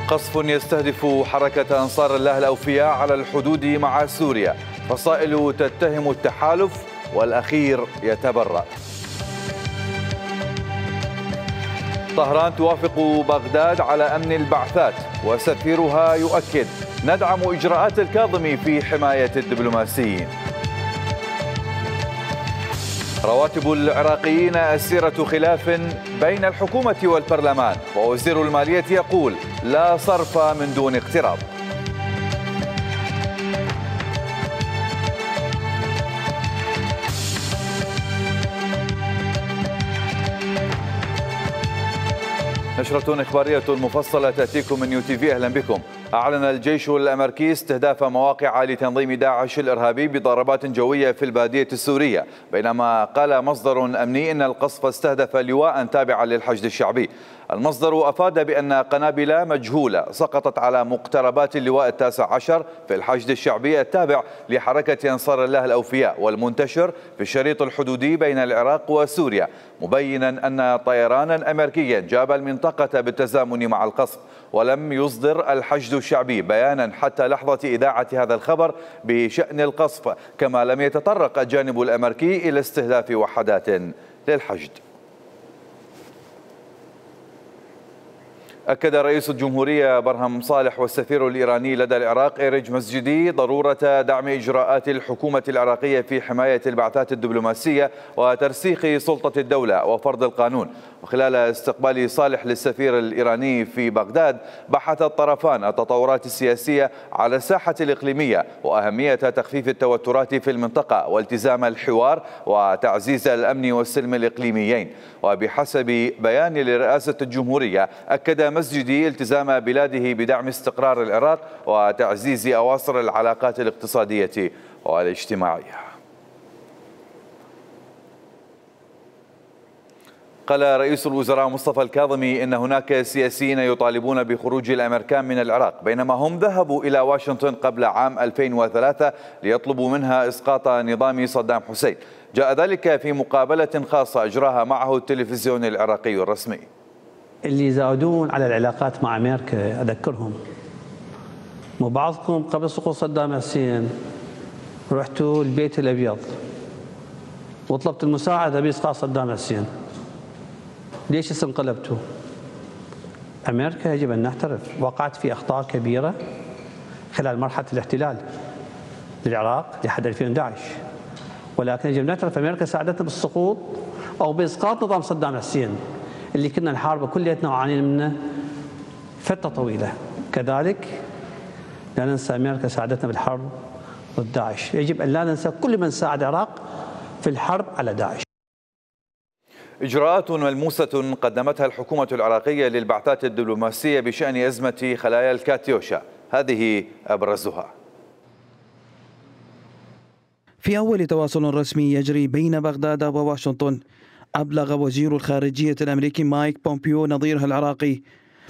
قصف يستهدف حركة أنصار الله الأوفياء على الحدود مع سوريا، فصائل تتهم التحالف والأخير يتبرأ. طهران توافق بغداد على أمن البعثات وسفيرها يؤكد ندعم إجراءات الكاظمي في حماية الدبلوماسيين. رواتب العراقيين أسيرة خلاف بين الحكومة والبرلمان، ووزير المالية يقول لا صرف من دون اقتراض. نشرة إخبارية مفصلة تأتيكم من UTV. أهلا بكم. أعلن الجيش الأمريكي استهداف مواقع لتنظيم داعش الإرهابي بضربات جوية في البادية السورية، بينما قال مصدر أمني إن القصف استهدف لواء تابعا للحشد الشعبي. المصدر أفاد بأن قنابل مجهولة سقطت على مقتربات اللواء 19 في الحشد الشعبي التابع لحركة أنصار الله الأوفياء والمنتشر في الشريط الحدودي بين العراق وسوريا، مبينا أن طيرانا أمريكيا جاب المنطقة بالتزامن مع القصف. ولم يصدر الحشد الشعبي بيانا حتى لحظة إذاعة هذا الخبر بشأن القصف، كما لم يتطرق الجانب الأمريكي إلى استهداف وحدات للحشد. أكد رئيس الجمهورية برهم صالح والسفير الإيراني لدى العراق إيرج مسجدي ضرورة دعم إجراءات الحكومة العراقية في حماية البعثات الدبلوماسية وترسيخ سلطة الدولة وفرض القانون. وخلال استقبال صالح للسفير الإيراني في بغداد، بحث الطرفان التطورات السياسية على الساحة الإقليمية وأهمية تخفيف التوترات في المنطقة والتزام الحوار وتعزيز الأمن والسلم الإقليميين. وبحسب بيان لرئاسة الجمهورية، أكد مسجدي التزام بلاده بدعم استقرار العراق وتعزيز أواصر العلاقات الاقتصادية والاجتماعية. قال رئيس الوزراء مصطفى الكاظمي إن هناك سياسيين يطالبون بخروج الأمريكان من العراق، بينما هم ذهبوا إلى واشنطن قبل عام 2003 ليطلبوا منها إسقاط نظام صدام حسين. جاء ذلك في مقابلة خاصة أجراها معه التلفزيون العراقي الرسمي. اللي يزودون على العلاقات مع أمريكا أذكرهم، وبعضكم قبل سقوط صدام حسين رحتوا البيت الأبيض وطلبت المساعدة بإسقاط صدام حسين. ليش انقلبتوا؟ أمريكا يجب أن نعترف وقعت في أخطاء كبيرة خلال مرحلة الاحتلال للعراق لحد 2011، ولكن يجب أن نعترف أمريكا ساعدتنا بالسقوط أو بإسقاط نظام صدام حسين اللي كنا نحاربه كلياتنا وعانينا منه فترة طويلة. كذلك لا ننسى أمريكا ساعدتنا بالحرب ضد داعش، يجب أن لا ننسى كل من ساعد العراق في الحرب على داعش. إجراءات ملموسة قدمتها الحكومة العراقية للبعثات الدبلوماسية بشأن أزمة خلايا الكاتيوشا، هذه أبرزها. في أول تواصل رسمي يجري بين بغداد وواشنطن، أبلغ وزير الخارجية الأمريكي مايك بومبيو نظيره العراقي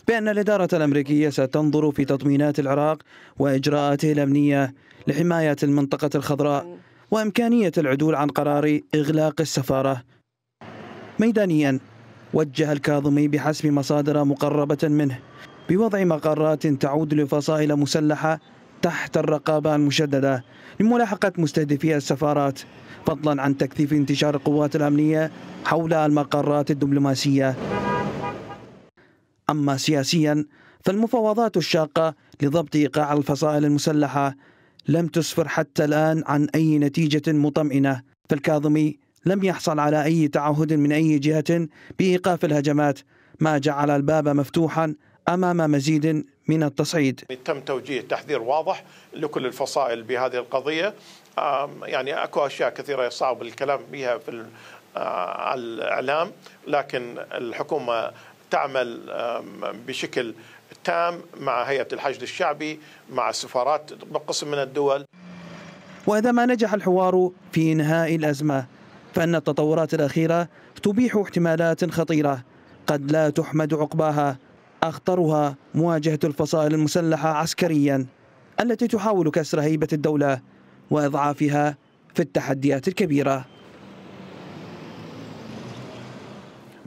بأن الإدارة الأمريكية ستنظر في تطمينات العراق وإجراءاته الأمنية لحماية المنطقة الخضراء وإمكانية العدول عن قرار إغلاق السفارة. ميدانيا، وجه الكاظمي بحسب مصادر مقربة منه بوضع مقرات تعود لفصائل مسلحة تحت الرقابة المشددة لملاحقة مستهدفي السفارات، فضلا عن تكثيف انتشار القوات الأمنية حول المقرات الدبلوماسية. أما سياسيا، فالمفاوضات الشاقة لضبط إيقاع الفصائل المسلحة لم تسفر حتى الآن عن أي نتيجة مطمئنة، فالكاظمي لم يحصل على أي تعهد من أي جهة بإيقاف الهجمات، ما جعل الباب مفتوحا أمام مزيد من التصعيد. تم توجيه تحذير واضح لكل الفصائل بهذه القضية. يعني أكو أشياء كثيرة صعب الكلام بها في الإعلام، لكن الحكومة تعمل بشكل تام مع هيئة الحشد الشعبي، مع السفارات بقسم من الدول. وإذا ما نجح الحوار في إنهاء الأزمة، فإن التطورات الأخيرة تبيح احتمالات خطيرة قد لا تحمد عقباها، أخطرها مواجهة الفصائل المسلحة عسكريا التي تحاول كسر هيبة الدولة وإضعافها في التحديات الكبيرة.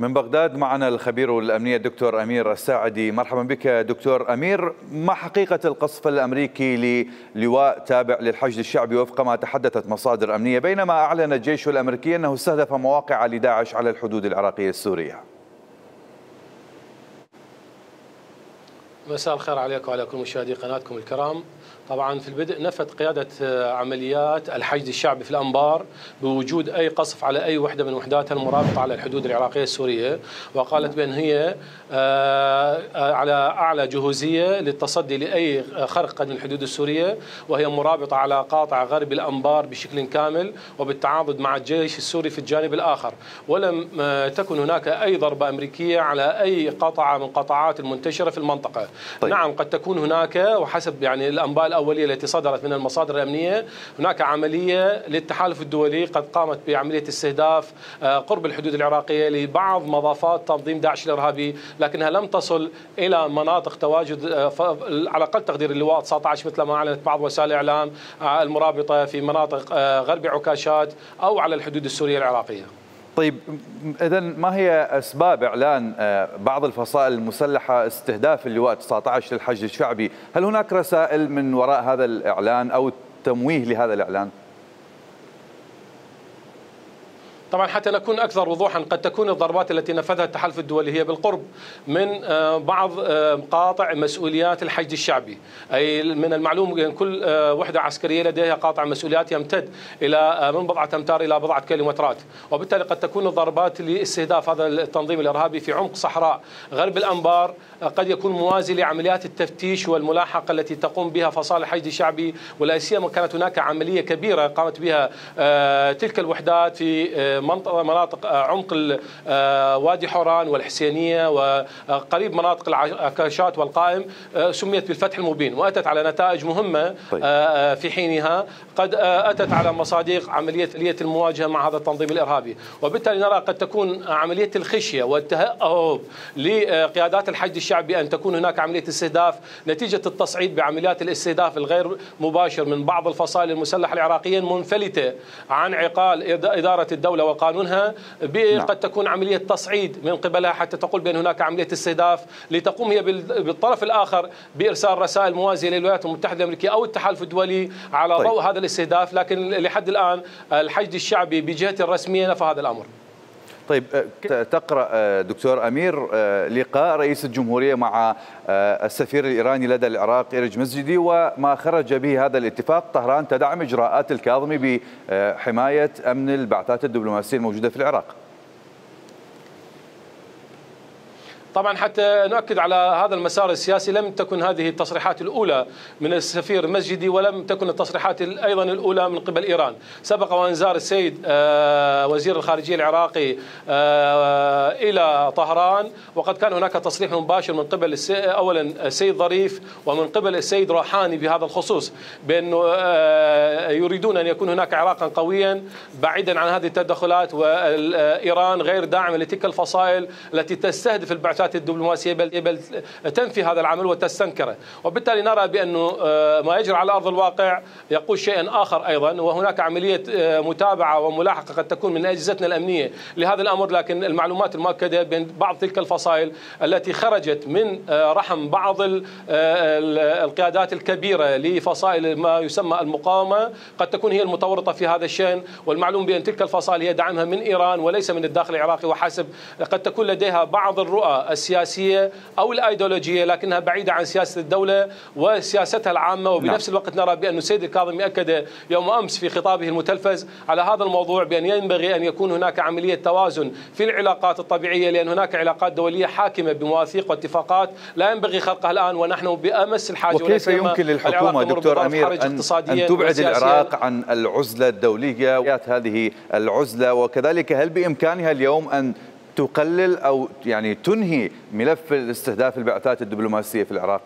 من بغداد معنا الخبير الأمني الدكتور أمير الساعدي. مرحبا بك دكتور أمير. ما حقيقة القصف الأمريكي للواء تابع للحشد الشعبي وفق ما تحدثت مصادر أمنية، بينما أعلن الجيش الأمريكي أنه استهدف مواقع لداعش على الحدود العراقية السورية؟ مساء الخير عليكم وعلى كل مشاهدي قناتكم الكرام. طبعا في البدء نفت قيادة عمليات الحشد الشعبي في الأنبار بوجود أي قصف على أي وحدة من وحداتها المرابطة على الحدود العراقية السورية، وقالت بأن هي على أعلى جهوزية للتصدي لأي خرق من الحدود السورية، وهي مرابطة على قاطع غرب الأنبار بشكل كامل وبالتعاضد مع الجيش السوري في الجانب الآخر، ولم تكن هناك أي ضربة أمريكية على أي قطعة من قطاعات المنتشرة في المنطقة. طيب. نعم قد تكون هناك، وحسب يعني الأنباء الأولية التي صدرت من المصادر الأمنية، هناك عملية للتحالف الدولي قد قامت بعملية استهداف قرب الحدود العراقية لبعض مضافات تنظيم داعش الإرهابي، لكنها لم تصل إلى مناطق تواجد على أقل تقدير اللواء 19 مثل ما أعلنت بعض وسائل الإعلام المرابطة في مناطق غرب عكاشات أو على الحدود السورية العراقية. طيب إذا ما هي أسباب إعلان بعض الفصائل المسلحة استهداف اللواء 19 للحشد الشعبي؟ هل هناك رسائل من وراء هذا الإعلان أو تمويه لهذا الإعلان؟ طبعا حتى نكون أكثر وضوحا، قد تكون الضربات التي نفذها التحالف الدولي هي بالقرب من بعض قاطع مسؤوليات الحشد الشعبي، أي من المعلوم أن كل وحدة عسكرية لديها قاطع مسؤوليات يمتد إلى من بضعة أمتار إلى بضعة كيلومترات، وبالتالي قد تكون الضربات لاستهداف هذا التنظيم الإرهابي في عمق صحراء غرب الأنبار قد يكون موازي لعمليات التفتيش والملاحقة التي تقوم بها فصائل الحشد الشعبي، ولا سيما كانت هناك عملية كبيرة قامت بها تلك الوحدات في مناطق عمق وادي حوران والحسينية وقريب مناطق العكاشات والقائم، سميت بالفتح المبين، وأتت على نتائج مهمة في حينها، قد أتت على مصادق عملية المواجهة مع هذا التنظيم الإرهابي، وبالتالي نرى قد تكون عملية الخشية والتهاب لقيادات الحشد الشعبي أن تكون هناك عملية استهداف نتيجة التصعيد بعمليات الاستهداف الغير مباشر من بعض الفصائل المسلحة العراقية منفلتة عن عقال إدارة الدولة وقانونها، قد تكون عملية تصعيد من قبلها حتى تقول بأن هناك عملية استهداف لتقوم هي بالطرف الآخر بإرسال رسائل موازية للولايات المتحدة الأمريكية أو التحالف الدولي على ضوء هذا الاستهداف، لكن لحد الآن الحشد الشعبي بجهته الرسمية نفى هذا الأمر. طيب تقرأ دكتور أمير لقاء رئيس الجمهورية مع السفير الإيراني لدى العراق إيرج مسجدي وما خرج به هذا الاتفاق، طهران تدعم إجراءات الكاظمي بحماية أمن البعثات الدبلوماسية الموجودة في العراق. طبعا حتى نؤكد على هذا المسار السياسي، لم تكن هذه التصريحات الأولى من السفير مسجدي، ولم تكن التصريحات أيضا الأولى من قبل إيران. سبق وأن زار السيد وزير الخارجية العراقي إلى طهران، وقد كان هناك تصريح مباشر من قبل أولا السيد ظريف ومن قبل السيد روحاني بهذا الخصوص، بأنه يريدون أن يكون هناك عراقا قويا بعيدا عن هذه التدخلات، وإيران غير داعمة لتلك الفصائل التي تستهدف البعثات الدبلوماسية بل تنفي هذا العمل وتستنكره، وبالتالي نرى بأنه ما يجري على أرض الواقع يقول شيئا آخر أيضا، وهناك عملية متابعة وملاحقة قد تكون من أجهزتنا الأمنية لهذا الأمر، لكن المعلومات المؤكدة بأن بعض تلك الفصائل التي خرجت من رحم بعض القيادات الكبيرة لفصائل ما يسمى المقاومة قد تكون هي المتورطة في هذا الشأن، والمعلوم بأن تلك الفصائل هي دعمها من إيران وليس من الداخل العراقي وحسب، قد تكون لديها بعض الرؤى السياسية أو الأيديولوجية لكنها بعيدة عن سياسة الدولة وسياستها العامة، وبنفس الوقت نرى بأن السيد الكاظمي أكد يوم أمس في خطابه المتلفز على هذا الموضوع بأن ينبغي أن يكون هناك عملية توازن في العلاقات الطبيعية، لأن هناك علاقات دولية حاكمة بمواثيق واتفاقات لا ينبغي خرقها الآن ونحن بأمس الحاجة. وكيف يمكن للحكومة دكتور أمير أن تبعد العراق عن العزلة الدولية هذه العزلة، وكذلك هل بإمكانها اليوم أن تقلل أو يعني تنهي ملف استهداف البعثات الدبلوماسية في العراق؟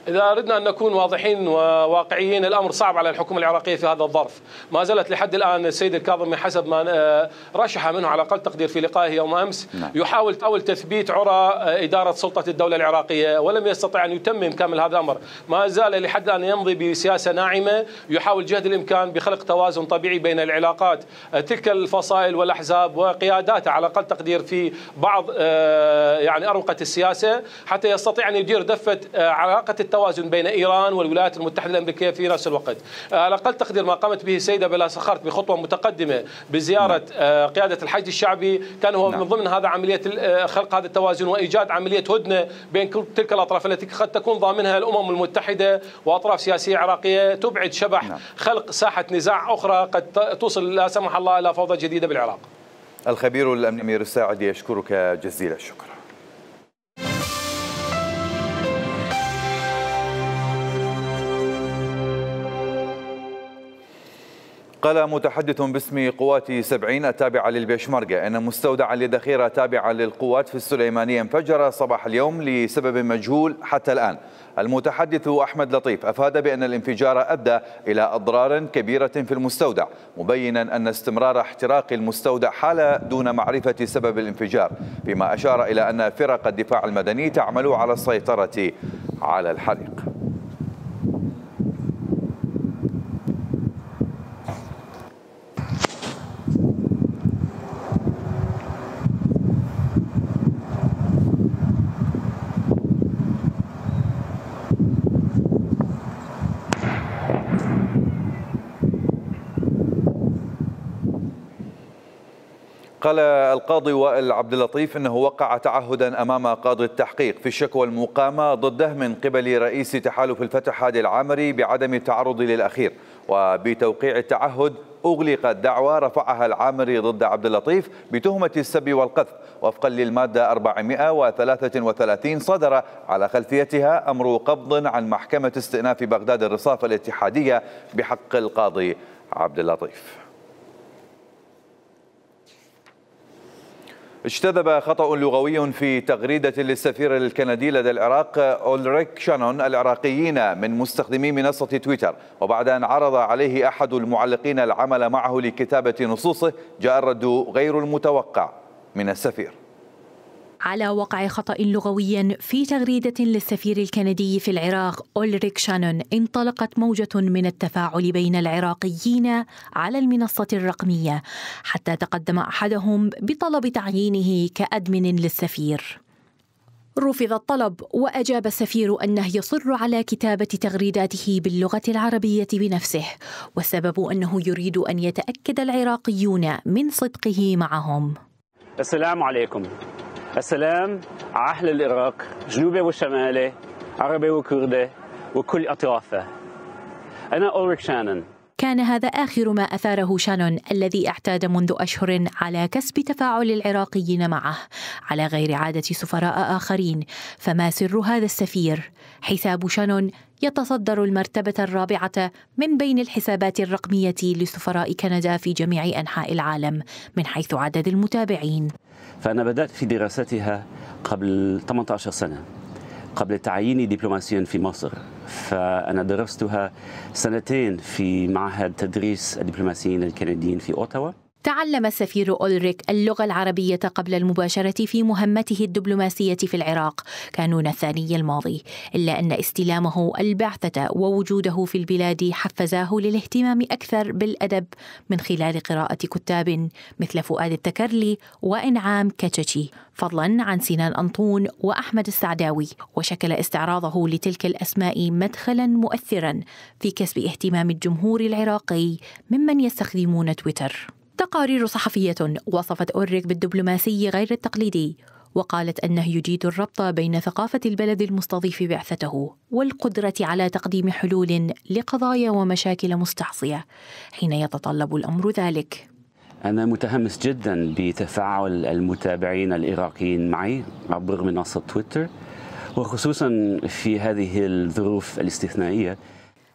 إذا أردنا أن نكون واضحين وواقعيين، الأمر صعب على الحكومة العراقية في هذا الظرف. ما زالت لحد الآن السيد الكاظمي حسب ما رشح منه على أقل تقدير في لقائه يوم أمس يحاول تثبيت عرى إدارة سلطة الدولة العراقية، ولم يستطع أن يتمم كامل هذا الأمر. ما زال لحد الآن يمضي بسياسة ناعمة، يحاول جهد الإمكان بخلق توازن طبيعي بين العلاقات تلك الفصائل والأحزاب وقياداتها على أقل تقدير في بعض يعني أروقة السياسة، حتى يستطيع أن يدير دفة علاقة التوازن بين إيران والولايات المتحدة الأمريكية في نفس الوقت. على أقل تقدير ما قامت به السيدة بلا سخرت بخطوة متقدمة بزيارة قيادة الحشد الشعبي، كان هو من ضمن هذا عملية خلق هذا التوازن وإيجاد عملية هدنة بين تلك الأطراف التي قد تكون ضامنها الأمم المتحدة وأطراف سياسية عراقية تبعد شبح خلق ساحة نزاع أخرى قد توصل لا سمح الله إلى فوضى جديدة بالعراق. الخبير الأمني أمير الساعدي يشكرك جزيل الشكر. قال متحدث باسم قوات 70 التابعة للبيشمركة أن مستودعا لذخيرة تابعة للقوات في السليمانية انفجر صباح اليوم لسبب مجهول حتى الآن. المتحدث أحمد لطيف أفاد بأن الانفجار أدى إلى أضرار كبيرة في المستودع، مبينا أن استمرار احتراق المستودع حال دون معرفة سبب الانفجار، فيما أشار إلى أن فرق الدفاع المدني تعمل على السيطرة على الحريق. قال القاضي وائل عبد اللطيف انه وقع تعهدا امام قاضي التحقيق في الشكوى المقامه ضده من قبل رئيس تحالف الفتح هادي العامري بعدم التعرض للاخير، وبتوقيع التعهد اغلقت دعوى رفعها العامري ضد عبد اللطيف بتهمه السب والقذف وفقا للماده 433 صدر على خلفيتها امر قبض عن محكمه استئناف بغداد الرصاف الاتحاديه بحق القاضي عبد اللطيف. اجتذب خطأ لغوي في تغريدة للسفير الكندي لدى العراق أولريك شانون العراقيين من مستخدمي منصة تويتر، وبعد أن عرض عليه أحد المعلقين العمل معه لكتابة نصوصه جاء الرد غير المتوقع من السفير. على وقع خطأ لغوي في تغريدة للسفير الكندي في العراق أولريك شانون انطلقت موجة من التفاعل بين العراقيين على المنصة الرقمية، حتى تقدم أحدهم بطلب تعيينه كأدمن للسفير. رفض الطلب، وأجاب السفير أنه يصر على كتابة تغريداته باللغة العربية بنفسه، والسبب أنه يريد أن يتأكد العراقيون من صدقه معهم. السلام عليكم. السلام على أهل العراق، جنوبي وشمالي، عربي وكردي وكل أطرافه. أنا أولريك شانون. كان هذا آخر ما أثاره شانون الذي اعتاد منذ أشهر على كسب تفاعل العراقيين معه على غير عادة سفراء آخرين. فما سر هذا السفير؟ حساب شانون يتصدر المرتبة الرابعة من بين الحسابات الرقمية لسفراء كندا في جميع أنحاء العالم من حيث عدد المتابعين. فأنا بدأت في دراستها قبل 18 سنة قبل تعييني دبلوماسيا في مصر، فأنا درستها 2 في معهد تدريس الدبلوماسيين الكنديين في أوتاوا. تعلم السفير أولريك اللغة العربية قبل المباشرة في مهمته الدبلوماسية في العراق كانون الثاني الماضي، إلا أن استلامه البعثة ووجوده في البلاد حفزاه للاهتمام أكثر بالأدب من خلال قراءة كتاب مثل فؤاد التكرلي وإنعام كتشي، فضلا عن سنان أنطون وأحمد السعداوي، وشكل استعراضه لتلك الأسماء مدخلا مؤثرا في كسب اهتمام الجمهور العراقي ممن يستخدمون تويتر. تقارير صحفية وصفت أولريك بالدبلوماسي غير التقليدي، وقالت أنه يجيد الربط بين ثقافة البلد المستضيف بعثته والقدرة على تقديم حلول لقضايا ومشاكل مستعصية حين يتطلب الأمر ذلك. أنا متحمس جدا بتفاعل المتابعين العراقيين معي عبر منصة تويتر، وخصوصا في هذه الظروف الاستثنائية.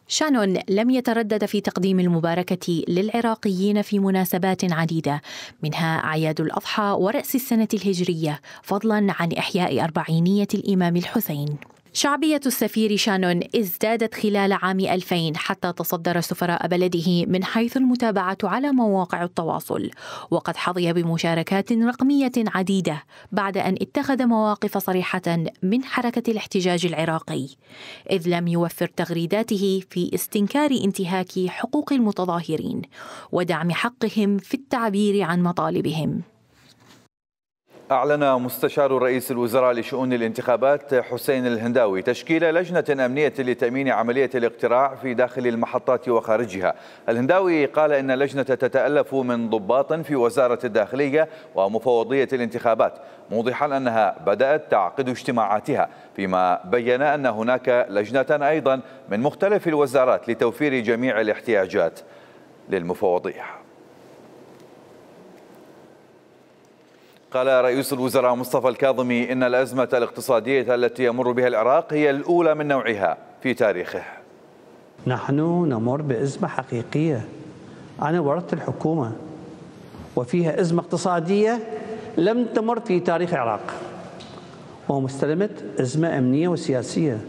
شانون لم يتردد في تقديم المباركة للعراقيين في مناسبات عديدة، منها أعياد الأضحى ورأس السنة الهجرية، فضلا عن إحياء 40 الإمام الحسين. شعبية السفير شانون ازدادت خلال عام 2000 حتى تصدر سفراء بلده من حيث المتابعة على مواقع التواصل، وقد حظي بمشاركات رقمية عديدة بعد أن اتخذ مواقف صريحة من حركة الاحتجاج العراقي، إذ لم يوفر تغريداته في استنكار انتهاك حقوق المتظاهرين ودعم حقهم في التعبير عن مطالبهم. أعلن مستشار رئيس الوزراء لشؤون الانتخابات حسين الهنداوي تشكيل لجنة أمنية لتأمين عملية الاقتراع في داخل المحطات وخارجها. الهنداوي قال إن اللجنة تتألف من ضباط في وزارة الداخلية ومفوضية الانتخابات، موضحا أنها بدأت تعقد اجتماعاتها، فيما بين أن هناك لجنة أيضا من مختلف الوزارات لتوفير جميع الاحتياجات للمفوضية. قال رئيس الوزراء مصطفى الكاظمي إن الأزمة الاقتصادية التي يمر بها العراق هي الأولى من نوعها في تاريخه. نحن نمر بأزمة حقيقية. أنا ورثت الحكومة وفيها أزمة اقتصادية لم تمر في تاريخ العراق، ومستلمة أزمة أمنية وسياسية.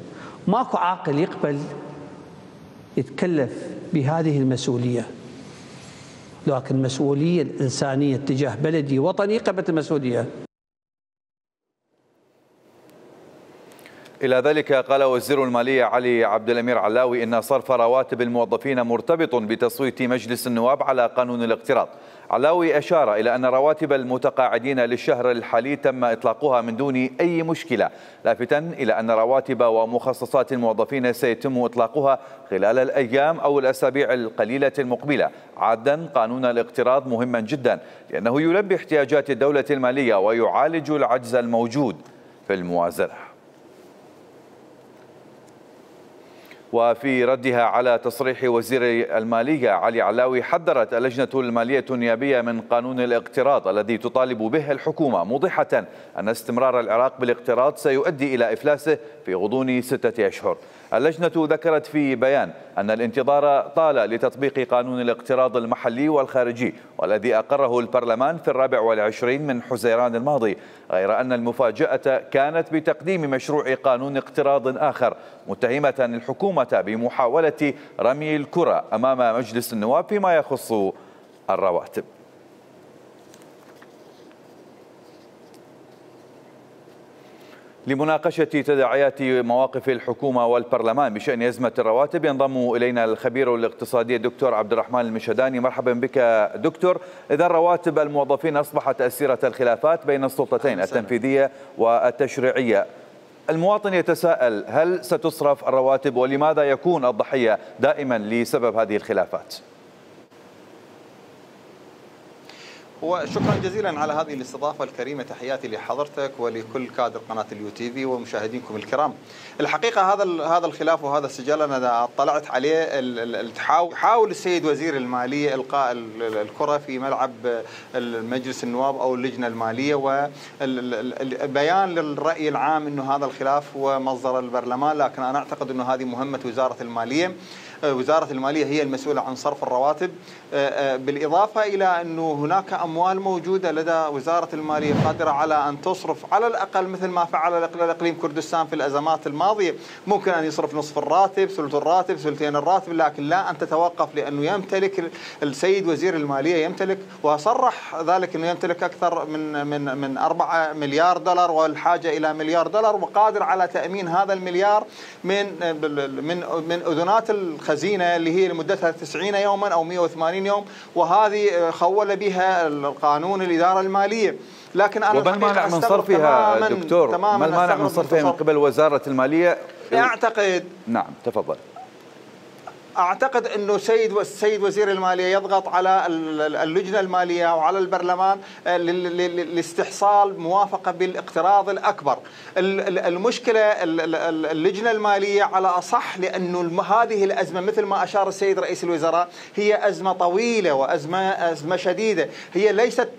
ماكو عاقل يقبل يتكلف بهذه المسؤولية، لكن المسؤولية الإنسانية تجاه بلدي وطني قبل المسؤولية. إلى ذلك قال وزير المالية علي عبد الأمير علاوي إن صرف رواتب الموظفين مرتبط بتصويت مجلس النواب على قانون الاقتراض. علاوي أشار إلى أن رواتب المتقاعدين للشهر الحالي تم إطلاقها من دون أي مشكلة، لافتاً إلى أن رواتب ومخصصات الموظفين سيتم إطلاقها خلال الأيام أو الأسابيع القليلة المقبلة. عاداً قانون الاقتراض مهما جدا لأنه يلبي احتياجات الدولة المالية ويعالج العجز الموجود في الموازنة. وفي ردها على تصريح وزير المالية علي علاوي، حذرت اللجنة المالية النيابية من قانون الاقتراض الذي تطالب به الحكومة، موضحة أن استمرار العراق بالاقتراض سيؤدي إلى إفلاسه في غضون 6 أشهر. اللجنة ذكرت في بيان أن الانتظار طال لتطبيق قانون الاقتراض المحلي والخارجي والذي أقره البرلمان في 24 من حزيران الماضي، غير أن المفاجأة كانت بتقديم مشروع قانون اقتراض آخر، متهمة الحكومة بمحاولة رمي الكرة أمام مجلس النواب فيما يخص الرواتب. لمناقشة تداعيات مواقف الحكومة والبرلمان بشأن أزمة الرواتب ينضم إلينا الخبير الاقتصادي الدكتور عبد الرحمن المشهداني. مرحبا بك دكتور. إذا رواتب الموظفين أصبحت أسيرة الخلافات بين السلطتين التنفيذية والتشريعية، المواطن يتساءل هل ستصرف الرواتب ولماذا يكون الضحية دائما لسبب هذه الخلافات؟ وشكرا جزيلا على هذه الاستضافة الكريمة. تحياتي لحضرتك ولكل كادر قناة اليو تي في ومشاهدينكم الكرام. الحقيقة هذا الخلاف وهذا السجال أنا اطلعت عليه، يحاول السيد وزير المالية إلقاء الكرة في ملعب المجلس النواب أو اللجنة المالية، والبيان للرأي العام أنه هذا الخلاف هو مصدر البرلمان، لكن أنا أعتقد أنه هذه مهمة وزارة المالية. وزارة المالية هي المسؤولة عن صرف الرواتب، بالإضافة إلى أنه هناك أموال موجودة لدى وزارة المالية قادرة على أن تصرف على الأقل مثل ما فعل الإقليم كردستان في الأزمات الماضية. ممكن أن يصرف نصف الراتب، ثلث الراتب، ثلثين الراتب، لكن لا أن تتوقف، لأنه يمتلك السيد وزير المالية يمتلك، وصرح ذلك أنه يمتلك أكثر من 4 مليار دولار والحاجة إلى مليار دولار، وقادر على تأمين هذا المليار من أذنات الخزينة اللي هي لمدتها 90 يوما أو 180 يوم، وهذه خول بها القانون الإدارة المالية. لكن أنا وما المانع من صرفها دكتور؟ ما المانع من صرفها من قبل وزارة المالية؟ أعتقد نعم تفضل. أعتقد أنه السيد وزير المالية يضغط على اللجنة المالية وعلى البرلمان لاستحصال موافقة بالاقتراض الأكبر. المشكلة اللجنة المالية على أصح، لأنه هذه الأزمة مثل ما أشار السيد رئيس الوزراء هي أزمة طويلة وأزمة شديدة، هي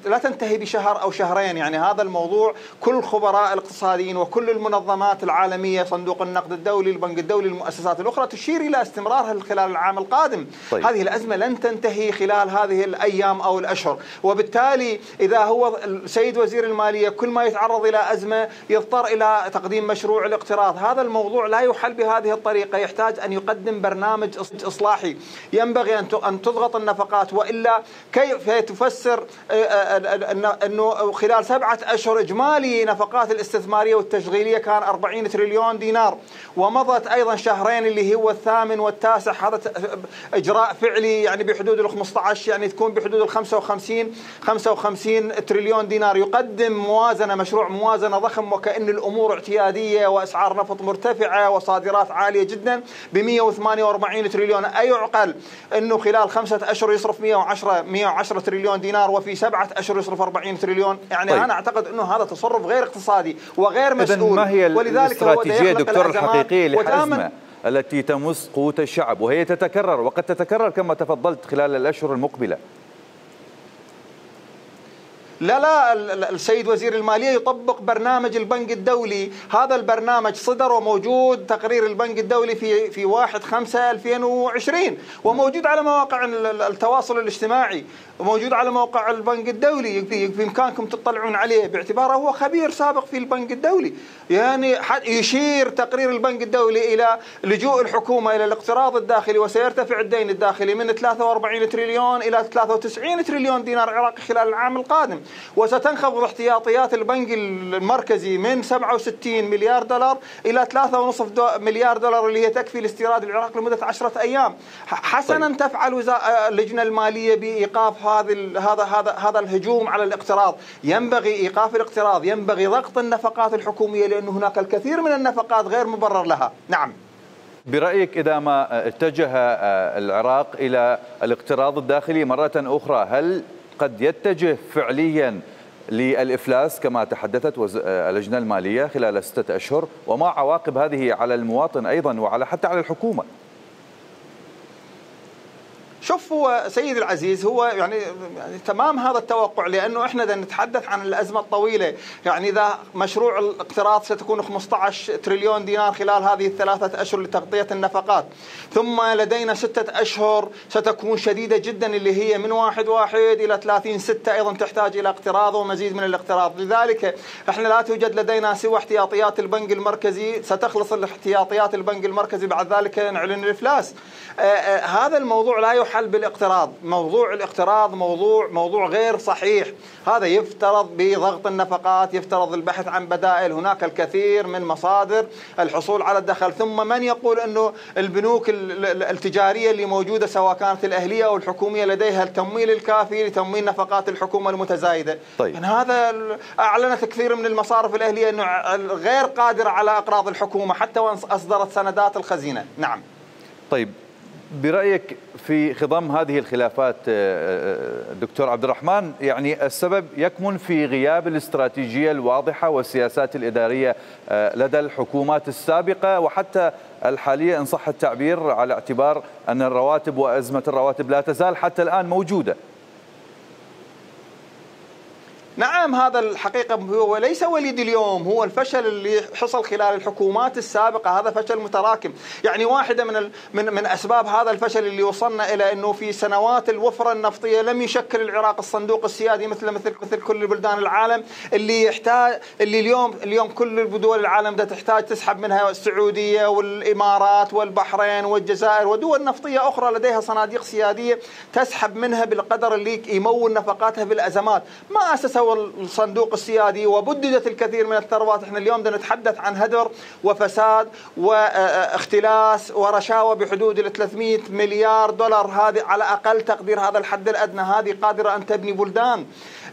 لا تنتهي بشهر أو شهرين. يعني هذا الموضوع كل الخبراء الاقتصاديين وكل المنظمات العالمية، صندوق النقد الدولي، البنك الدولي، المؤسسات الأخرى، تشير إلى استمرار الخلاف خلال العام القادم. طيب. هذه الأزمة لن تنتهي خلال هذه الأيام أو الأشهر، وبالتالي إذا هو السيد وزير المالية كل ما يتعرض إلى أزمة يضطر إلى تقديم مشروع الاقتراض، هذا الموضوع لا يحل بهذه الطريقة، يحتاج أن يقدم برنامج إصلاحي. ينبغي أن تضغط النفقات، وإلا كيف تفسر أنه خلال 7 أشهر إجمالي نفقات الاستثمارية والتشغيلية كان 40 تريليون دينار، ومضت أيضا شهرين اللي هو الثامن والتاسع، هذا إجراء فعلي يعني بحدود ال 15، يعني تكون بحدود ال 55 تريليون دينار. يقدم مشروع موازنة ضخم وكأن الأمور اعتيادية وأسعار نفط مرتفعة وصادرات عالية جدا ب 148 تريليون. أي يعقل أنه خلال 5 أشهر يصرف 110 تريليون دينار وفي 7 أشهر يصرف 40 تريليون؟ يعني طيب. أنا أعتقد أنه هذا تصرف غير اقتصادي وغير مسؤول. ما هي الاستراتيجية دكتور الحقيقية لحزمة التي تمس قوت الشعب وهي تتكرر وقد تتكرر كما تفضلت خلال الأشهر المقبلة؟ لا السيد وزير المالية يطبق برنامج البنك الدولي. هذا البرنامج صدر وموجود تقرير البنك الدولي في 1/5/2020 وموجود على مواقع التواصل الاجتماعي وموجود على موقع البنك الدولي، بإمكانكم تطلعون عليه باعتباره هو خبير سابق في البنك الدولي. يعني يشير تقرير البنك الدولي إلى لجوء الحكومة إلى الاقتراض الداخلي وسيرتفع الدين الداخلي من 43 تريليون إلى 93 تريليون دينار عراقي خلال العام القادم، وستنخفض احتياطيات البنك المركزي من 67 مليار دولار إلى 3.5 مليار دولار اللي هي تكفي لاستيراد العراق لمدة 10 أيام. حسنا طيب. تفعل اللجنة المالية بإيقاف هذا الهجوم على الاقتراض. ينبغي إيقاف الاقتراض، ينبغي ضغط النفقات الحكومية لأن هناك الكثير من النفقات غير مبرر لها. نعم. برأيك إذا ما اتجه العراق إلى الاقتراض الداخلي مرة أخرى هل قد يتجه فعليا للإفلاس كما تحدثت اللجنة المالية خلال 6 أشهر؟ وما عواقب هذه على المواطن أيضا وعلى حتى على الحكومة؟ شوف هو سيد العزيز هو يعني تمام هذا التوقع، لأنه إحنا بدنا نتحدث عن الأزمة الطويلة. يعني إذا مشروع الاقتراض ستكون 15 تريليون دينار خلال هذه ال3 أشهر لتغطية النفقات، ثم لدينا 6 أشهر ستكون شديدة جدا اللي هي من 1/1 إلى 30/6 أيضا تحتاج إلى اقتراض ومزيد من الاقتراض. لذلك إحنا لا توجد لدينا سوى احتياطيات البنك المركزي، ستخلص الاحتياطيات البنك المركزي بعد ذلك نعلن الإفلاس. هذا الموضوع لا يحل بالاقتراض. موضوع الاقتراض موضوع غير صحيح. هذا يفترض بضغط النفقات، يفترض البحث عن بدائل. هناك الكثير من مصادر الحصول على الدخل. ثم من يقول أنه البنوك التجارية اللي موجودة سواء كانت الأهلية أو الحكومية لديها التمويل الكافي لتمويل نفقات الحكومة المتزايدة؟ طيب. يعني هذا أعلنت كثير من المصارف الأهلية أنه غير قادرة على أقراض الحكومة حتى وأن أصدرت سندات الخزينة. نعم. طيب برأيك في خضم هذه الخلافات دكتور عبد الرحمن، يعني السبب يكمن في غياب الاستراتيجية الواضحة والسياسات الإدارية لدى الحكومات السابقة وحتى الحالية إن صح التعبير، على اعتبار أن الرواتب وأزمة الرواتب لا تزال حتى الآن موجودة. نعم هذا الحقيقة هو ليس وليد اليوم، هو الفشل اللي حصل خلال الحكومات السابقة، هذا فشل متراكم. يعني واحدة من أسباب هذا الفشل اللي وصلنا إلى أنه في سنوات الوفرة النفطية لم يشكل العراق الصندوق السيادي مثل كل بلدان العالم اللي اليوم كل دول العالم بدها تحتاج تسحب منها السعودية والإمارات والبحرين والجزائر ودول نفطية أخرى لديها صناديق سيادية تسحب منها بالقدر اللي يمول نفقاتها بالأزمات. ما أسسوا الصندوق السيادي وبددت الكثير من الثروات. احنا اليوم بدنا نتحدث عن هدر وفساد واختلاس ورشاوى بحدود ال 300 مليار دولار. هذه على أقل تقدير هذا الحد الأدنى، هذه قادرة أن تبني بلدان.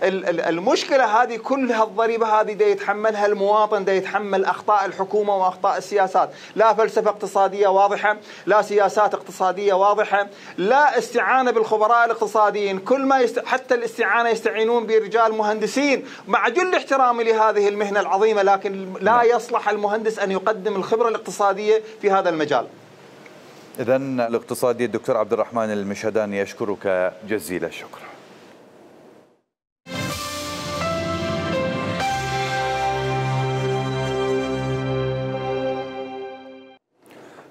المشكلة هذه كلها الضريبة هذه دا يتحملها المواطن، دا يتحمل أخطاء الحكومة وأخطاء السياسات. لا فلسفة اقتصادية واضحة، لا سياسات اقتصادية واضحة، لا استعانة بالخبراء الاقتصاديين. كل ما حتى الاستعانة يستعينون برجال مهندسين مع جل احترامي لهذه المهنة العظيمة، لكن لا يصلح المهندس أن يقدم الخبرة الاقتصادية في هذا المجال. إذن الاقتصادي الدكتور عبد الرحمن المشهداني يشكرك جزيل الشكر.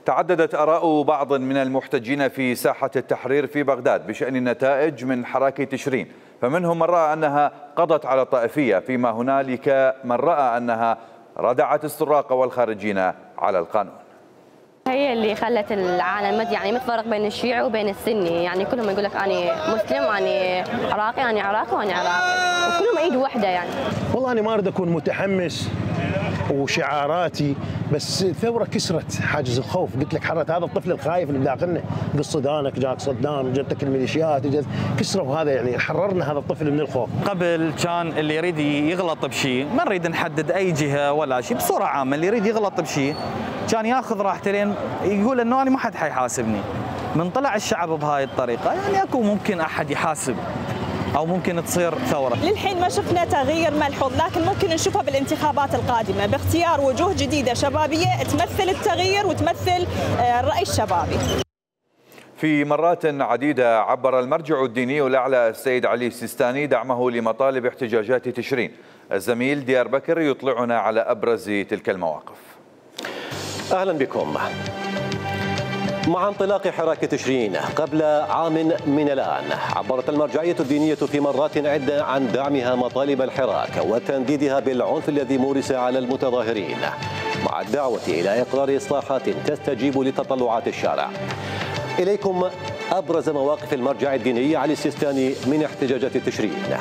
تعددت آراء بعض من المحتجين في ساحة التحرير في بغداد بشأن النتائج من حراك تشرين، فمنهم من رأى أنها قضت على الطائفية، فيما هنالك من رأى أنها ردعت السراق والخارجين على القانون. هي اللي خلت العالم يعني متفرق بين الشيعي وبين السني، يعني كلهم يقول لك أنا مسلم وأنا عراقي، أنا عراقي وأنا عراقي، وكلهم إيد واحدة يعني. والله أنا ما أريد أكون متحمس وشعاراتي، بس الثوره كسرت حاجز الخوف. قلت لك حرت هذا الطفل الخايف اللي بداخلنا، قصدانك جاك صدام، جتك الميليشيات، كسروا هذا، يعني حررنا هذا الطفل من الخوف. قبل كان اللي يريد يغلط بشيء، ما نريد نحدد اي جهه ولا شيء، بصوره عامه اللي يريد يغلط بشيء كان ياخذ راحته لين يقول انه انا ما حد حيحاسبني. من طلع الشعب بهاي الطريقه يعني اكو ممكن احد يحاسب أو ممكن تصير ثورة. للحين ما شفنا تغيير ملحوظ، لكن ممكن نشوفه بالانتخابات القادمة باختيار وجوه جديدة شبابية تمثل التغيير وتمثل الرأي الشبابي. في مرات عديدة عبر المرجع الديني الأعلى السيد علي السيستاني دعمه لمطالب احتجاجات تشرين. الزميل ديار بكر يطلعنا على أبرز تلك المواقف. أهلا بكم. مع انطلاق حراك تشرين قبل عام من الآن، عبرت المرجعية الدينية في مرات عدة عن دعمها مطالب الحراك وتنديدها بالعنف الذي مورس على المتظاهرين، مع الدعوة إلى إقرار إصلاحات تستجيب لتطلعات الشارع. إليكم أبرز مواقف المرجع الديني علي السيستاني من احتجاجات تشرين.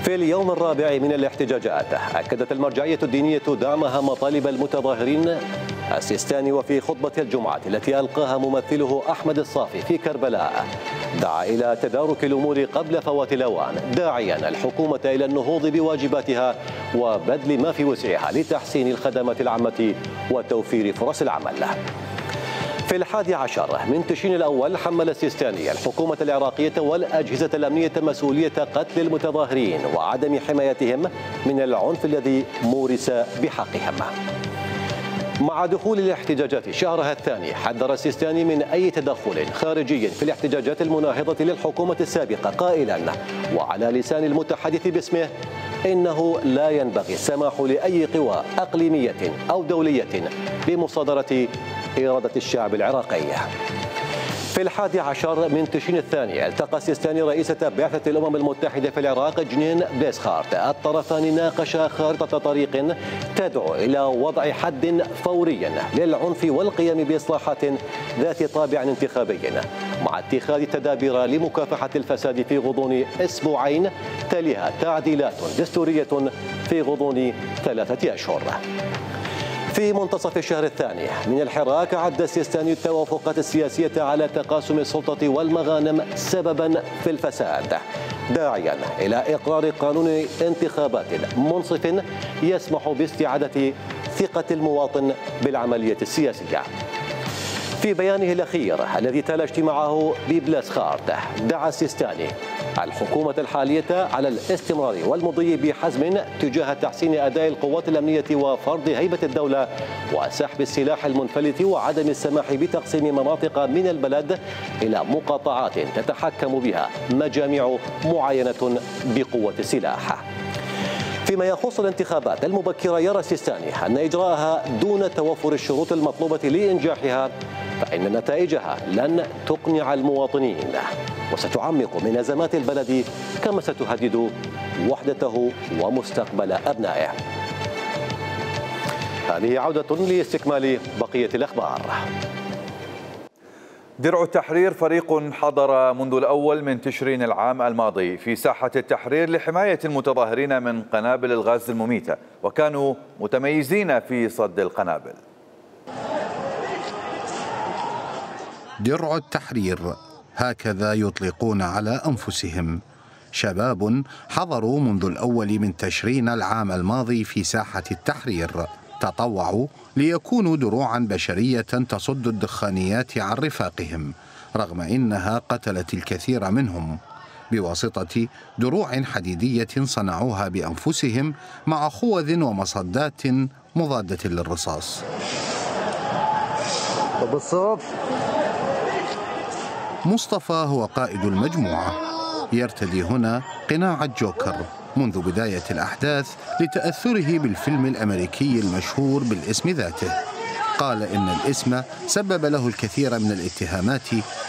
في اليوم الرابع من الاحتجاجات أكدت المرجعية الدينية دعمها مطالب المتظاهرين السيستاني، وفي خطبة الجمعة التي ألقاها ممثله أحمد الصافي في كربلاء دعا إلى تدارك الأمور قبل فوات الأوان، داعيا الحكومة إلى النهوض بواجباتها وبذل ما في وسعها لتحسين الخدمات العامة وتوفير فرص العمل. في 11 من تشرين الأول حمل السيستاني الحكومة العراقية والأجهزة الأمنية مسؤولية قتل المتظاهرين وعدم حمايتهم من العنف الذي مورس بحقهم. مع دخول الاحتجاجات شهرها الثاني حذر السيستاني من أي تدخل خارجي في الاحتجاجات المناهضة للحكومة السابقة، قائلا وعلى لسان المتحدث باسمه إنه لا ينبغي السماح لأي قوى أقليمية أو دولية بمصادرة إرادة الشعب العراقي. في 11 من تشرين الثاني التقى السيستاني رئيسة بعثة الأمم المتحدة في العراق جنين بليسخارت. الطرفان ناقشا خارطة طريق تدعو إلى وضع حد فوري للعنف والقيام بإصلاحات ذات طابع انتخابي، مع اتخاذ تدابير لمكافحة الفساد في غضون أسبوعين تليها تعديلات دستورية في غضون 3 أشهر. في منتصف الشهر الثاني من الحراك عد السيستاني التوافقات السياسية على تقاسم السلطة والمغانم سببا في الفساد، داعيا إلى إقرار قانون انتخابات منصف يسمح باستعادة ثقة المواطن بالعملية السياسية. في بيانه الأخير الذي تلا اجتماعه ببلاسخارت دعا السيستاني الحكومة الحالية على الاستمرار والمضي بحزم تجاه تحسين أداء القوات الأمنية وفرض هيبة الدولة وسحب السلاح المنفلت وعدم السماح بتقسيم مناطق من البلد إلى مقاطعات تتحكم بها مجاميع معينة بقوة السلاح. فيما يخص الانتخابات المبكرة يرى السيستاني أن إجراءها دون توفر الشروط المطلوبة لإنجاحها فإن نتائجها لن تقنع المواطنين وستعمق من أزمات البلد كما ستهدد وحدته ومستقبل أبنائه. هذه عودة لاستكمال بقية الأخبار. درع التحرير فريق حضر منذ الأول من تشرين العام الماضي في ساحة التحرير لحماية المتظاهرين من قنابل الغاز المميتة، وكانوا متميزين في صد القنابل. درع التحرير هكذا يطلقون على أنفسهم، شباب حضروا منذ الأول من تشرين العام الماضي في ساحة التحرير، تطوعوا ليكونوا دروعا بشرية تصد الدخانيات عن رفاقهم رغم إنها قتلت الكثير منهم، بواسطة دروع حديدية صنعوها بأنفسهم مع خوذ ومصدات مضادة للرصاص. مصطفى هو قائد المجموعة، يرتدي هنا قناع الجوكر منذ بداية الأحداث لتأثره بالفيلم الأمريكي المشهور بالاسم ذاته. قال إن الاسم سبب له الكثير من الاتهامات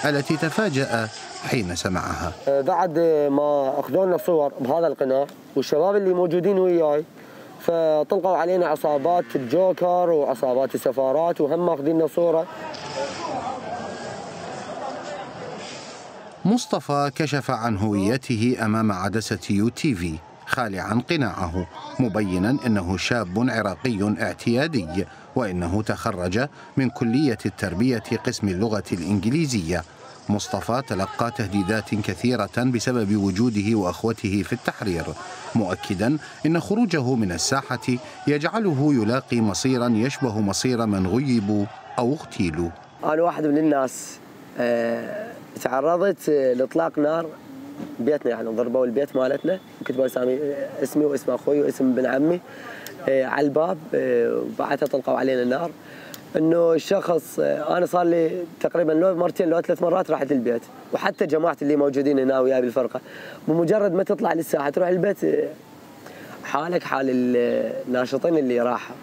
التي تفاجأ حين سمعها. بعد ما أخذوا لنا صور بهذا القناع والشباب اللي موجودين وياي فطلقوا علينا عصابات الجوكر وعصابات السفارات وهم ماخذين صورة. مصطفى كشف عن هويته أمام عدسة UTV خالعا قناعه، مبينا أنه شاب عراقي اعتيادي وإنه تخرج من كلية التربية قسم اللغة الإنجليزية. مصطفى تلقى تهديدات كثيرة بسبب وجوده وأخوته في التحرير، مؤكدا أن خروجه من الساحة يجعله يلاقي مصيرا يشبه مصير من غيبوا أو اغتيلوا. أنا واحد من الناس تعرضت لاطلاق نار بيتنا، يعني ضربوا البيت مالتنا، كتبوا اسمي واسم اخوي واسم ابن عمي على الباب، وبعدها طلقوا علينا النار. انه الشخص انا صار لي تقريبا لو مرتين لو 3 مرات رحت البيت، وحتى جماعه اللي موجودين هنا وياي بالفرقه بمجرد ما تطلع للساحه تروح البيت حالك حال الناشطين اللي راحوا.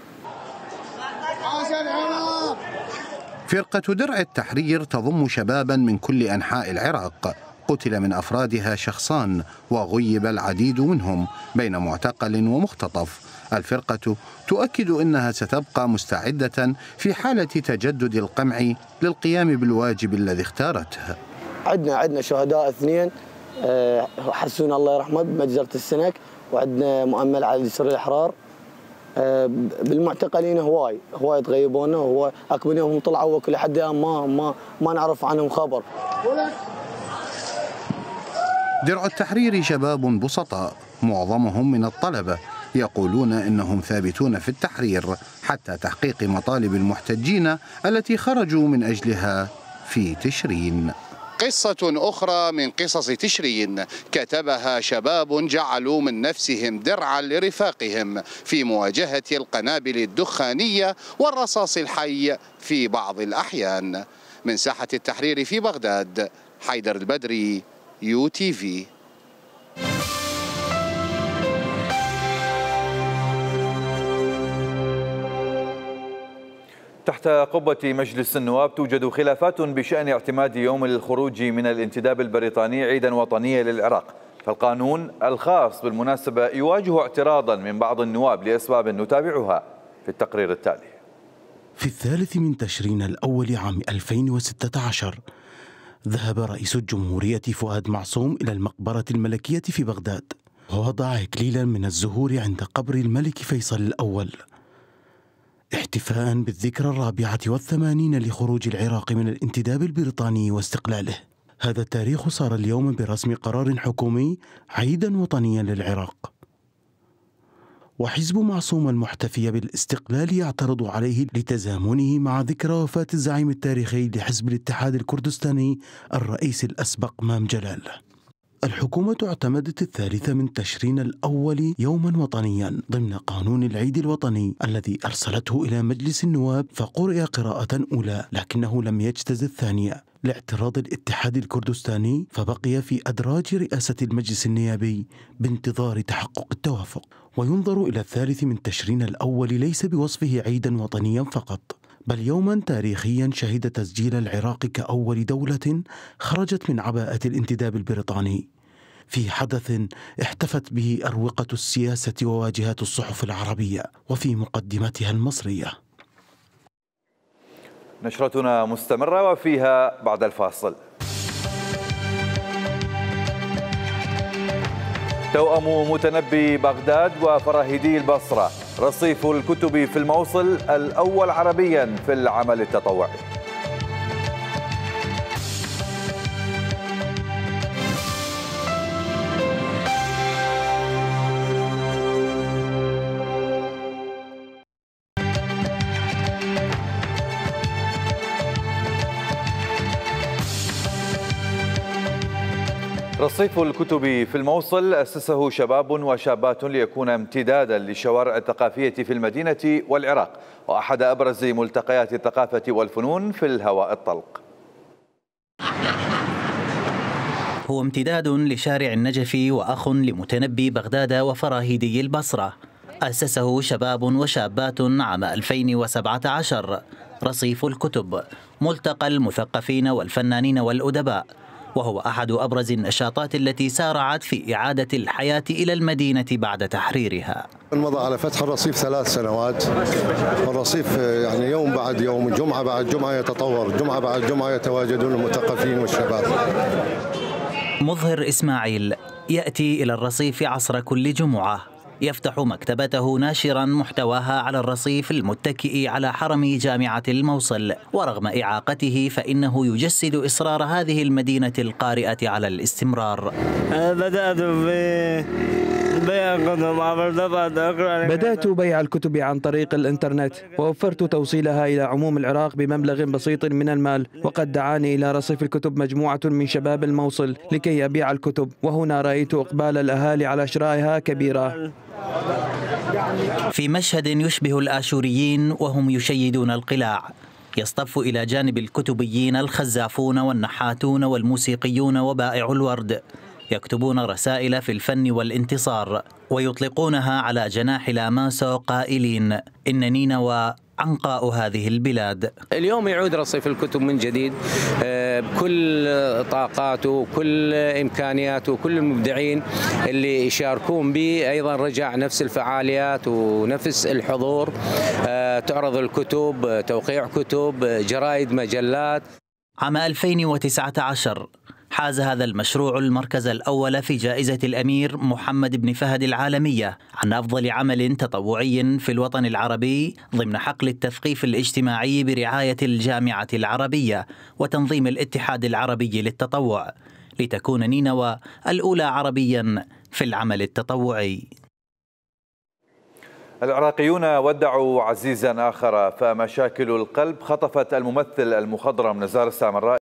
فرقة درع التحرير تضم شبابا من كل أنحاء العراق، قتل من أفرادها شخصان وغيب العديد منهم بين معتقل ومختطف. الفرقة تؤكد أنها ستبقى مستعدة في حالة تجدد القمع للقيام بالواجب الذي اختارته. عندنا شهداء 2 حسون الله يرحمه بمجزرة السنك، وعندنا مؤمل على سر الإحرار. بالمعتقلين هواي تغيبونا، وهو اكو منهم طلعوا وكل حد ما نعرف عنهم خبر. درع التحرير شباب بسطاء معظمهم من الطلبة، يقولون إنهم ثابتون في التحرير حتى تحقيق مطالب المحتجين التي خرجوا من أجلها في تشرين. قصة أخرى من قصص تشرين كتبها شباب جعلوا من نفسهم درعا لرفاقهم في مواجهة القنابل الدخانية والرصاص الحي في بعض الأحيان. من ساحة التحرير في بغداد، حيدر البدري، UTV. تحت قبة مجلس النواب توجد خلافات بشأن اعتماد يوم الخروج من الانتداب البريطاني عيدا وطنيا للعراق، فالقانون الخاص بالمناسبة يواجه اعتراضا من بعض النواب لأسباب نتابعها في التقرير التالي. في 3 من تشرين الأول عام 2016 ذهب رئيس الجمهورية فؤاد معصوم إلى المقبرة الملكية في بغداد، ووضع إكليلا من الزهور عند قبر الملك فيصل الأول احتفاء بالذكرى 84 لخروج العراق من الانتداب البريطاني واستقلاله. هذا التاريخ صار اليوم برسم قرار حكومي عيدا وطنيا للعراق، وحزب معصوم المحتفي بالاستقلال يعترض عليه لتزامنه مع ذكرى وفاة الزعيم التاريخي لحزب الاتحاد الكردستاني الرئيس الأسبق مام جلال. الحكومة اعتمدت 3 من تشرين الأول يوما وطنيا ضمن قانون العيد الوطني الذي أرسلته إلى مجلس النواب، فقرئ قراءة أولى لكنه لم يجتز الثانية لاعتراض الاتحاد الكردستاني، فبقي في أدراج رئاسة المجلس النيابي بانتظار تحقق التوافق. وينظر إلى 3 من تشرين الأول ليس بوصفه عيدا وطنيا فقط، بل يوما تاريخيا شهد تسجيل العراق كأول دولة خرجت من عباءة الانتداب البريطاني، في حدث احتفت به أروقة السياسة وواجهات الصحف العربية وفي مقدمتها المصرية. نشرتنا مستمرة وفيها بعد الفاصل. توأم متنبي بغداد وفراهيدي البصرة، رصيف الكتب في الموصل الأول عربيا في العمل التطوعي. رصيف الكتب في الموصل أسسه شباب وشابات ليكون امتدادا للشوارع الثقافية في المدينة والعراق، وأحد أبرز ملتقيات الثقافة والفنون في الهواء الطلق. هو امتداد لشارع النجف وأخ لمتنبي بغداد وفراهيدي البصرة. أسسه شباب وشابات عام 2017 رصيف الكتب، ملتقى المثقفين والفنانين والأدباء، وهو أحد أبرز النشاطات التي سارعت في إعادة الحياة إلى المدينة بعد تحريرها. مضى على فتح الرصيف 3 سنوات. الرصيف يعني يوم بعد يوم، جمعة بعد جمعة يتطور، جمعة بعد جمعة يتواجدون المثقفين والشباب. مظهر إسماعيل يأتي إلى الرصيف عصر كل جمعة، يفتح مكتبته ناشرا محتواها على الرصيف المتكئ على حرم جامعة الموصل، ورغم إعاقته فإنه يجسد إصرار هذه المدينة القارئة على الاستمرار. بدأت بيع الكتب عن طريق الإنترنت، ووفرت توصيلها إلى عموم العراق بمبلغ بسيط من المال، وقد دعاني إلى رصيف الكتب مجموعة من شباب الموصل لكي أبيع الكتب، وهنا رأيت إقبال الأهالي على شرائها كبيرة. في مشهد يشبه الآشوريين وهم يشيدون القلاع، يصطف إلى جانب الكتبيين الخزافون والنحاتون والموسيقيون وبائع الورد، يكتبون رسائل في الفن والانتصار ويطلقونها على جناح لاماسو قائلين إن نينوى عنقاء هذه البلاد. اليوم يعود رصيف الكتب من جديد بكل طاقاته وكل إمكانياته وكل المبدعين اللي يشاركون به. أيضا رجع نفس الفعاليات ونفس الحضور، تعرض الكتب، توقيع كتب، جرائد، مجلات. عام 2019 حاز هذا المشروع المركز الأول في جائزة الأمير محمد بن فهد العالمية عن أفضل عمل تطوعي في الوطن العربي ضمن حقل التثقيف الاجتماعي برعاية الجامعة العربية وتنظيم الاتحاد العربي للتطوع، لتكون نينوى الأولى عربيا في العمل التطوعي. العراقيون ودعوا عزيزا آخر، فمشاكل القلب خطفت الممثل المخضرم نزار السامراء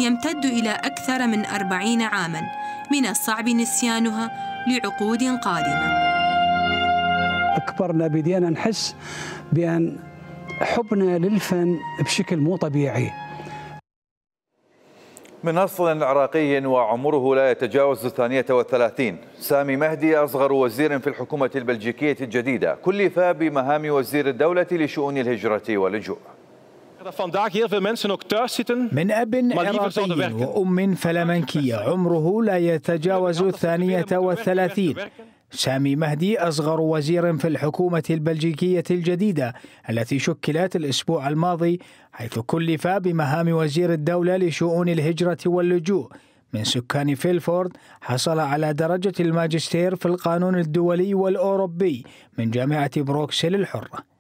يمتد إلى أكثر من 40 عاماً، من الصعب نسيانها لعقود قادمة. أكبرنا بدينا نحس بأن حبنا للفن بشكل مو طبيعي. من أصل عراقي وعمره لا يتجاوز 32، سامي مهدي أصغر وزير في الحكومة البلجيكية الجديدة، كلف بمهام وزير الدولة لشؤون الهجرة واللجوء. من أب عراقي وأم فلمنكية عمره لا يتجاوز 32، سامي مهدي أصغر وزير في الحكومة البلجيكية الجديدة التي شكلت الأسبوع الماضي، حيث كلف بمهام وزير الدولة لشؤون الهجرة واللجوء. من سكان فيلفورد حصل على درجة الماجستير في القانون الدولي والأوروبي من جامعة بروكسل الحرة.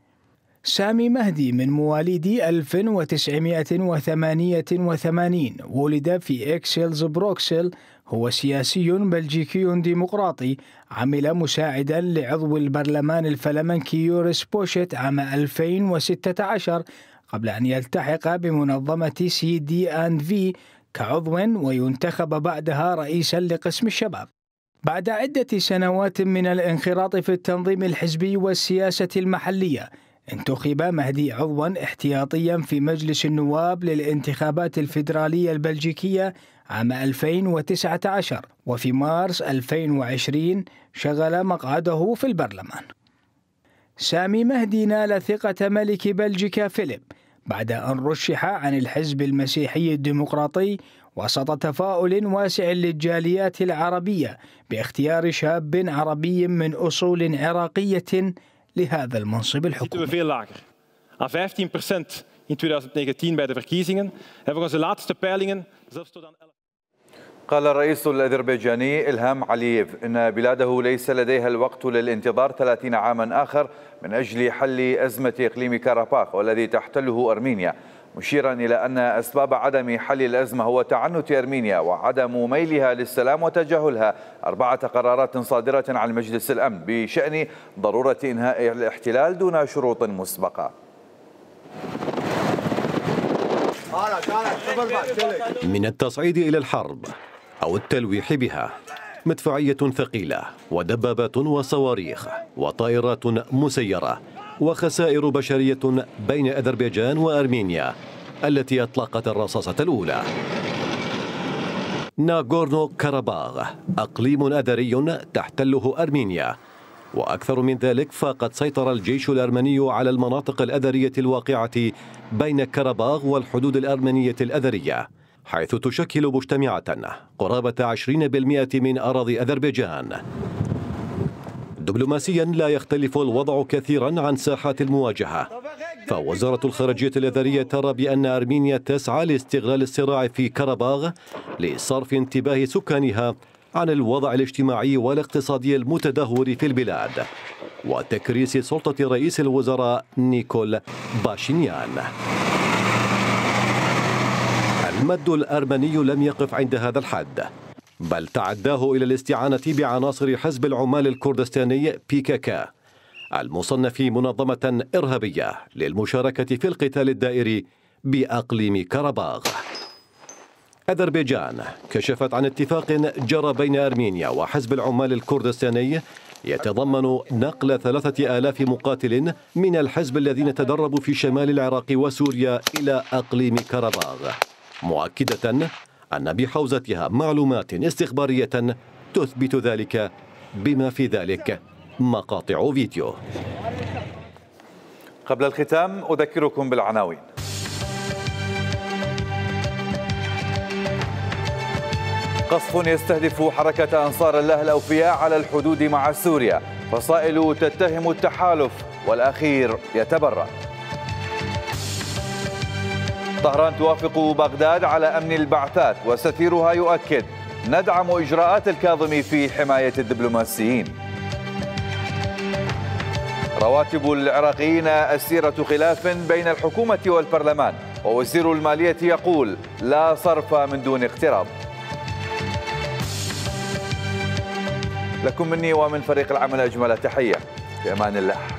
سامي مهدي من مواليد 1988 ولد في إكسلز بروكسل، هو سياسي بلجيكي ديمقراطي عمل مساعدا لعضو البرلمان الفلمنكي يوريس بوشيت عام 2016 قبل أن يلتحق بمنظمة CD&V كعضو وينتخب بعدها رئيسا لقسم الشباب. بعد عدة سنوات من الانخراط في التنظيم الحزبي والسياسة المحلية، انتخب مهدي عضوا احتياطيا في مجلس النواب للانتخابات الفيدرالية البلجيكية عام 2019، وفي مارس 2020 شغل مقعده في البرلمان. سامي مهدي نال ثقة ملك بلجيكا فيليب بعد أن رشح عن الحزب المسيحي الديمقراطي وسط تفاؤل واسع للجاليات العربية باختيار شاب عربي من أصول عراقية لهذا المنصب الحكومي. aan 15% in 2019 bij de verkiezingen. En volgens de laatste peilingen zelfs tot aan 11%. قال الرئيس الأذربيجاني إلهام علييف إن بلاده ليس لديها الوقت للانتظار 30 عاما آخر من أجل حل أزمة إقليم كاراباخ والذي تحتله أرمينيا، مشيرا إلى أن أسباب عدم حل الأزمة هو تعنت أرمينيا وعدم ميلها للسلام وتجاهلها 4 قرارات صادرة عن مجلس الأمن بشأن ضرورة إنهاء الاحتلال دون شروط مسبقة. من التصعيد إلى الحرب أو التلويح بها، مدفعية ثقيلة ودبابات وصواريخ وطائرات مسيرة وخسائر بشرية بين أذربيجان وأرمينيا التي أطلقت الرصاصة الأولى. ناغورنو كاراباغ أقليم أذري تحتله أرمينيا، وأكثر من ذلك فقد سيطر الجيش الأرمني على المناطق الأذرية الواقعة بين كاراباغ والحدود الأرمنية الأذرية، حيث تشكل مجتمعة قرابة 20% من أراضي أذربيجان. دبلوماسيا لا يختلف الوضع كثيرا عن ساحات المواجهة، فوزارة الخارجية الأذرية ترى بأن أرمينيا تسعى لاستغلال الصراع في كاراباغ لصرف انتباه سكانها عن الوضع الاجتماعي والاقتصادي المتدهور في البلاد وتكريس سلطة رئيس الوزراء نيكول باشينيان. المد الأرمني لم يقف عند هذا الحد، بل تعداه إلى الاستعانة بعناصر حزب العمال الكردستاني PKK المصنف منظمة إرهابية للمشاركة في القتال الدائري بأقليم كاراباغ. أذربيجان كشفت عن اتفاق جرى بين أرمينيا وحزب العمال الكردستاني يتضمن نقل 3000 مقاتل من الحزب الذين تدربوا في شمال العراق وسوريا إلى أقليم كاراباغ، مؤكدة أن بحوزتها معلومات استخبارية تثبت ذلك، بما في ذلك مقاطع فيديو. قبل الختام أذكركم بالعناوين. قصف يستهدف حركة أنصار الله الأوفياء على الحدود مع سوريا، فصائل تتهم التحالف والأخير يتبرأ. طهران توافق بغداد على أمن البعثات وسفيرها يؤكد ندعم إجراءات الكاظمي في حماية الدبلوماسيين. رواتب العراقيين أسيرة خلاف بين الحكومة والبرلمان، ووزير المالية يقول لا صرف من دون اقتراض. لكم مني ومن فريق العمل أجمل تحية، في أمان الله.